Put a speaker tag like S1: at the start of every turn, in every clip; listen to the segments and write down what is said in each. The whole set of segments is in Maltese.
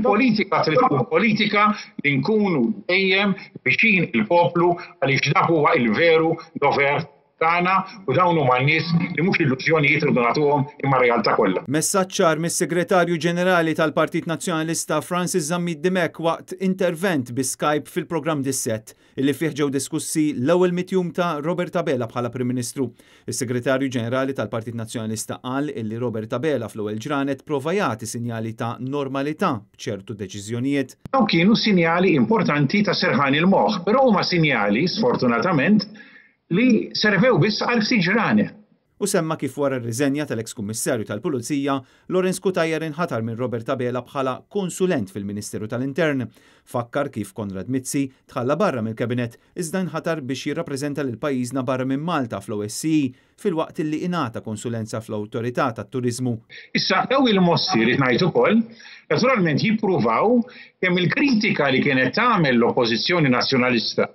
S1: Il-politika trid tkun politika li nkunu dejjem viċin il-poplu għaliex dak huwa il-veru dover tagħna u dawn huma n-nies li mhux illużjonijiet irridu nagħtuhom imma realtà kollha.
S2: Messaġġ ċar mis-Segretarju Ġenerali tal-Partit Nazzjonalista Francis Zammit Dimech waqt intervent bi Skype fil-programm Dissett, illi fih ġew diskussi l-ewwel mitjum ta' Robert Abela bħala Prim Ministru. Is-Segretarju Ġenerali tal-Partit Nazzjonalista qal illi Robert Abela fl-ewwel ġranet prova jagħti sinjali ta' normalità b'ċertu deċiżjonijiet.
S1: Dawn kienu sinjali importanti ta' serħan il-moħħ, però huma sinjali, sfortunatament, li servew biss għal ftit ġranet.
S2: Hu semma kif wara r-riżenja tal-eks Kummissarju tal-Pulizija, Lawrence Cutajar inħatar minn Robert Abela bħala konsulent fil-Ministeru tal-Intern. Fakkar kif Konrad Mizzi tħalla barra mill-Cabinet iżda inħatar biex jirrappreżenta lil pajjiżna barra minn Malta fl-OSCE filwaqt illi ingħata konsulenza fl-Awtorità tat-Turiżmu.
S1: Issa dawn il-mossi rrid ngħid ukoll, naturalment jippruvaw kemm il-kritika li kienet tagħmel l-Oppożizzjoni Nazzjonalista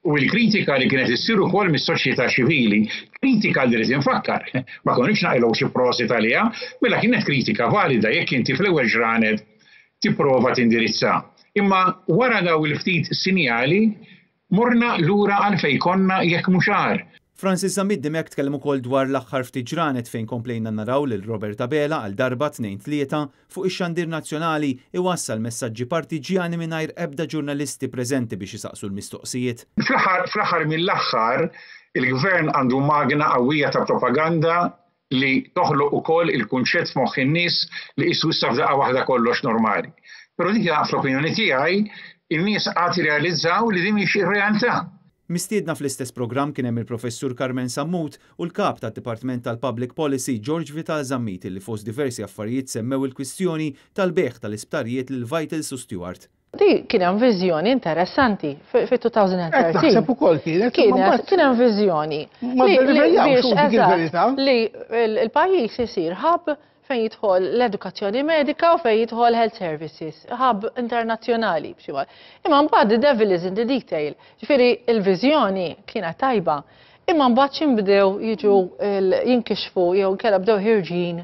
S1: u l-kritika li kienet issir ukoll mis-soċjetà ċivili, kritika li rrid infakkar, ma konniex naqilgħu xi prosit għaliha, mela kienet kritika valida jekk inti fl-ewwel ġranet tipprova tindirizza. Imma wara daw il-ftit sinjali morna lura għal fejn konna jekk mhux agħar.
S2: Francis Zammit Dimech tkellem ukoll dwar l-aħħar ftit ġranet fejn komplejna naraw lil Robert Abela għal darba tnejn tlieta fuq ix-xandir nazzjonali iwassal messaġġi partiġġjani mingħajr ebda ġurnalisti preżenti biex isaqsu l-mistoqsijiet.
S1: Fl-aħħar fl-aħħar mill-aħħar il-Gvern għandu magna qawwija ta' propaganda li toħloq ukoll il-kunċett f'moħħ in-nies li qisu issa f'daqqa waħda kollox normali. Però dik fl-opinjoni tiegħi in-nies għad jirrealizzaw li din mhix ir-realtà.
S2: Mistiedna fl-istess programm kien hemm il-Professur Carmen Sammut u l-Kap tad-Dipartiment tal-Public Policy George Vital Zammit li fost diversi affarijiet semmew il-kwistjoni tal-bejgħ tal-isptarijiet lil Vitals u Steward.
S3: Di kien hemm viżjoni interessanti fi-2013.
S4: Naħseb ukoll kienet.
S3: Kienet kien hemm viżjoni.
S4: Ma
S3: biex li l-pajjiż isir hub fejn jidħol l-edukazzjoni medika u fejn jidħol health services, hub internazzjonali b'xi mod. Imma mbagħad the devil is in the detail. Ġifieri il-viżjoni kienet tajba, imma mbagħad x'inbdew jiġu jinkixfu jew inkella bdew ħirġin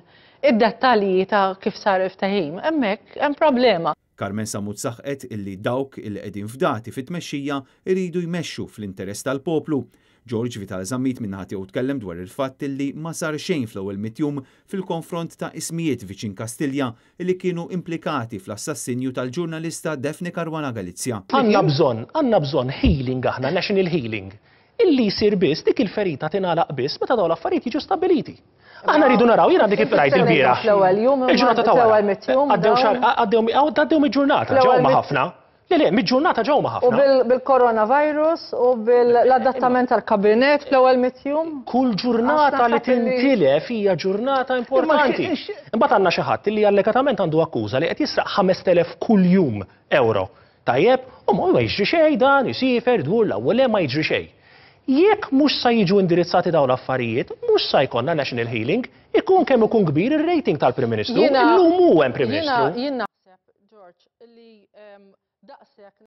S3: id-dettalji ta' kif sar il-ftehim, hemmhekk hemm problema.
S2: Carmen Sammut saħqet illi dawk illi qegħdin fdati fit-tmexxija jridu jmexxu fl-interess tal-poplu. George Vital Zammit min-naħa tiegħu tkellem dwar il-fatt illi ma sar xejn fl-ewwel mitjum fil-konfront ta' ismijiet viċin Kastilja illi kienu implikati fl-assassinju tal-ġurnalista Daphne Caruana Galizia.
S5: Għandna bżonn, għandna bżonn healing aħna, national healing, illi jsir biss, dik il-ferita tingħalaq biss meta dawn l-affarijiet jiġu stabbiliti. Aħna rridu naraw, jiena għandi kif rajt il-bieraħ.
S3: Il-ġurnata ta' wara.
S5: Għaddew xahar, għaddew mill-ġurnata, ġew ma ħafna. Le, le, mill-ġurnata ġew ma ħafna.
S3: U bil-coronavirus u bil-adattament tal-kabinet fl-ewwel mitjum.
S5: Kull ġurnata li tintilef hija ġurnata importanti. Imbagħad għandna xi ħadd li allegatament għandu akkuża li qed jisraq 5000 kuljum euro. Tajjeb, u ma jiġri xejn dan, isiefer, idur 'l hawn u 'l hemm ma jiġri xejn. Jekk mhux sa jiġu indirizzati dawn l-affarijiet, mhux sa jkollna national healing, ikun kemm ikun kbir ir-rating tal-Prim Ministru. Illum hu hemm Prim Ministru.
S3: Jien naħseb, George, li daqshekk.